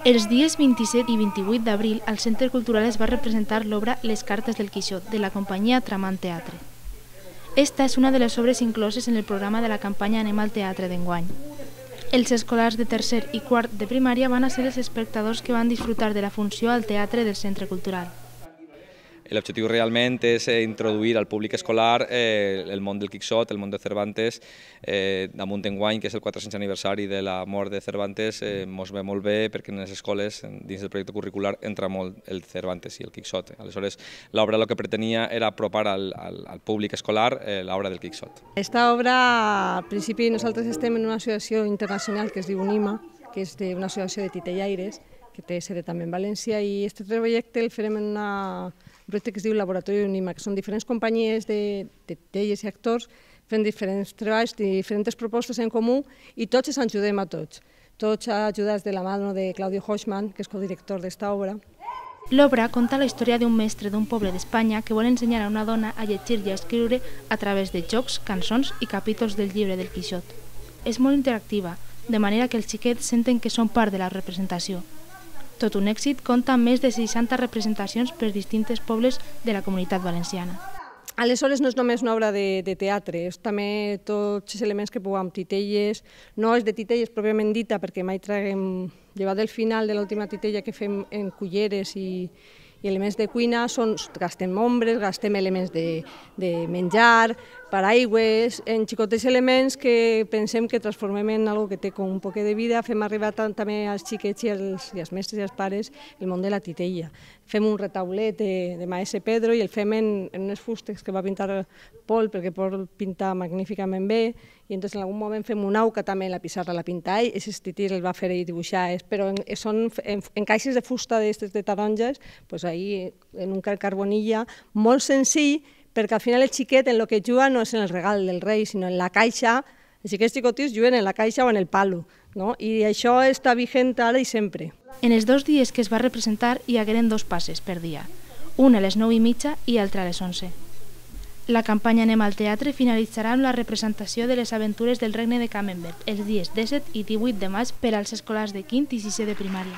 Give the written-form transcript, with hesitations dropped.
Els dies 27 i 28 d'abril al Centre Cultural es va representar l'obra Les cartes del Quixot, de la companyia Tramant Teatre. Esta és una de les obres incloses en el programa de la campanya Anem al Teatre d'enguany. Els escolars de tercer i quart de primària van a ser els espectadors que van disfrutar de la funció al teatre del Centre Cultural. L'objectiu realment és introduir al públic escolar el món del Quixot, el món de Cervantes. Damunt enguany, que és el 400 aniversari de la mort de Cervantes, ens ve molt bé perquè en les escoles, dins del projecte curricular, entra molt el Cervantes i el Quixot. Aleshores, l'obra el que pretenia era apropar al públic escolar l'obra del Quixot. Esta obra, al principi, nosaltres estem en una associació internacional que es diu UNIMA, que és una associació de titellaires, que té sede també en València, i aquest projecte el farem en un projecte que es diu Laboratori UNIMA, que són diferents companyies de titelles i actors fent diferents treballs, diferents propostes en comú, i tots ens ajudem a tots. Tots ajudats de la mà de Claudio Hochman, que és codirector d'esta obra. L'obra conta la història d'un mestre d'un poble d'Espanya que vol ensenyar a una dona a llegir i a escriure a través de jocs, cançons i capítols del llibre del Quixot. És molt interactiva, de manera que els xiquets senten que són part de la representació. Tot un èxit, compta amb més de 60 representacions per distints pobles de la Comunitat Valenciana. Aleshores no és només una obra de teatre, és també tots els elements que puguem, titelles, no és de titelles pròpiament dita perquè mai traguem, llevat del final de l'última titella que fem en culleres i elements de cuina, gastem ombres, gastem elements de menjar, paraigües, en xicotets elements que pensem que transformem en algo que té com un poc de vida, fem arribar també als xiquets i als mestres i als pares el món de la titella. Fem un retaulet de maese Pedro i el fem en unes fustes que va pintar Pol, perquè Pol pinta magníficament bé, i en algun moment fem un auca també en la pissarra, la pinta ell, aquests titils el va fer ell dibuixar, però són en caixes de fusta de taronges, ahí en un carbonilla molt senzill, perquè al final el xiquet en el que juga no és en el regal del rei, sinó en la caixa. Els xiquets xicotits juguen en la caixa o en el palo, i això està vigent ara i sempre. En els 2 dies que es va representar hi hagueren 2 passes per dia, un a les 9:30 i l'altre a les 11. La campanya Anem al Teatre finalitzarà amb la representació de les aventures del Regne de Camembert els dies 17 i 18 de maig per als escolars de 5è i 6è de primària.